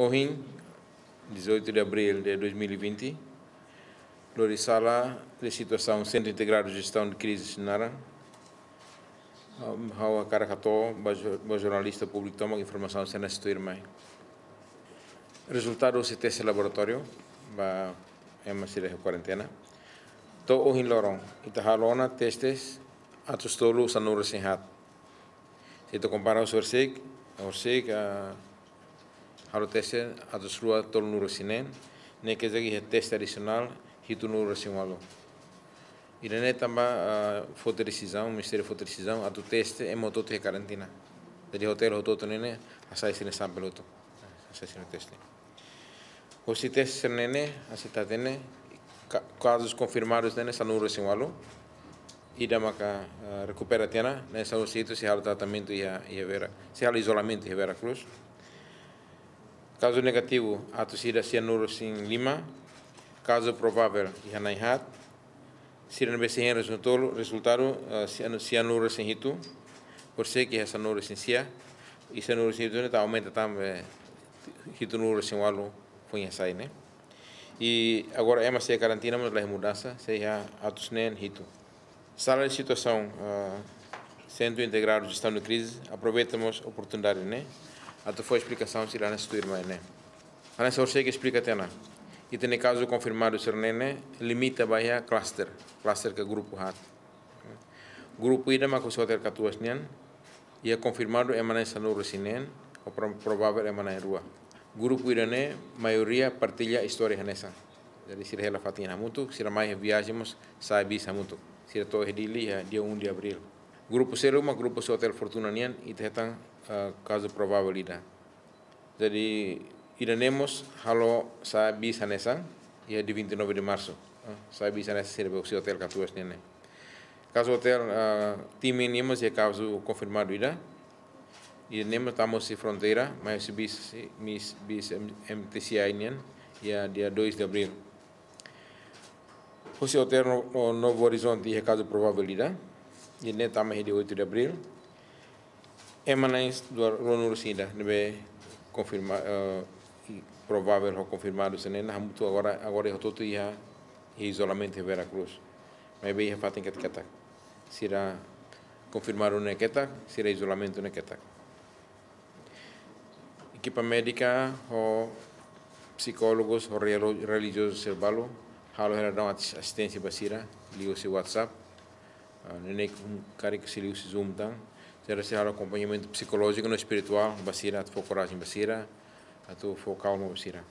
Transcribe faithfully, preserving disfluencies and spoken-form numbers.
Ohin, dezoito de abril de dois mil e vinte, lori sala de situasaun Sentru Integradu Jestaun de Krize naran, ha'u hakarak hato'o ba jo-, ba jornalista públiku tomak informasaun sira ne'e sei tuir mai. Rezultadu husi teste laboratóriu ba ema sira iha kuarentena to'o ohin loron, ita halo ona testes atus tolu sanulu-resin-haat. Se ita kompara husi horisehik, horisehik, ah, halo teste atus rua tolunulu-resin-neen, ne'e ke jadi iha teste adisionál hitunulu-resin-ualu. Ida-ne'e tanba, ah, foti desizaun, Ministériu foti desizaun atu teste ema hotu-hotu iha karantina. Jadi hotel hotu-hotu ne'e hasai sira-nia sampel hotu. Hasai sira-nia teste. Husi teste sira-ne'e, hanesan ita hatene, ka-, kazus konfirmadus ne'e sanulu-resin-ualu. Ida maka, eh, rekupera tiha ona, ne'e sanulu-resin-hitu sei halo tratamentu iha, iha Vera, sei halo izolamentu iha Vera Cruz. Kazu negativu, atus ida sianulu-resin-lima. Kazu provável iha na'in-haat. Sira ne'ebé sei hein rezultolu, rezultadu, eh, sianu-, sianulu-resin-hitu, horisehik iha sanulu-resin-sia, i sanulu-resin-hitu ne'e ita aumenta tan ba hitunulu-resin-ualu foin hasai ne'e. I agora ema sei karantina, mas laiha mudansa, sei iha atus neen hitu. Sala de situasaun, eh, Sentru Integradu Jestaun de Krize, aproveita mós oportunidade ne'e atu fó esplikasaun sira hanesan tuir mai ne'e. Hanesan horisehik esplika tiha ona, ita-nia kazu konfirmadu sira-ne'e limita ba iha cluster, cluster ka grupu haat. Grupu ida maka husi Hotel Katuas nian, iha konfirmadu ema na'in sanulu-resin-neen, ho pro-, provável ema na'in-rua. Grupu ida-ne'e maioria partilla istória hanesan. Jadi sira hela fatin hamutuk, sira mai viajen mós sa'e bis hamutuk. Sira to'o iha Dili iha dia um de abril. Grupu seluk mak grupu husi Hotel Fortuna nian, ita hetan, eh, kazu provável ida. Jadi, ida-ne'e mós halo sa'e bis hanesan, iha dia vinte e nove de março. Ah, sa'e bis hanesan sira be husi Hotel Katuas nian ne'e. Kazu hotel, ah, Timi nian mós iha kazu konfirmadu ida. Ida-ne'e mós tama husi fronteira, mai husi bis, bis, bis M-, M T C I nian, iha dia dois de abril. Husi Hotel No-, No-, Novo Horizonte iha kazu provável ida. Ida-ne'e tama iha dia oito de abril. Ema na'in dua, ruanulu-resin-ida ne'ebé konfirma, eh, i provável ho konfirmadu sira-ne'e hamutuk agora, agora hotu-hotu iha, iha izolamentu iha Vera Cruz. Maibé iha fatin ketak-ketak. Sira konfirmadu ne'e ketak, sira izolamentu ne'e ketak. Ekipa médika ho psikólogus ho relo-, relijiozu sira balu halo hela daudaun atis-, asisténsia ba sira liuhusi WhatsApp. Ah, ne'e karik sei liuhusi Zoom tan. Sira sei halo akompañamentu psikolójiku no espirituál ba sira, atu fó korajen ba sira, atu fó kalma ba sira.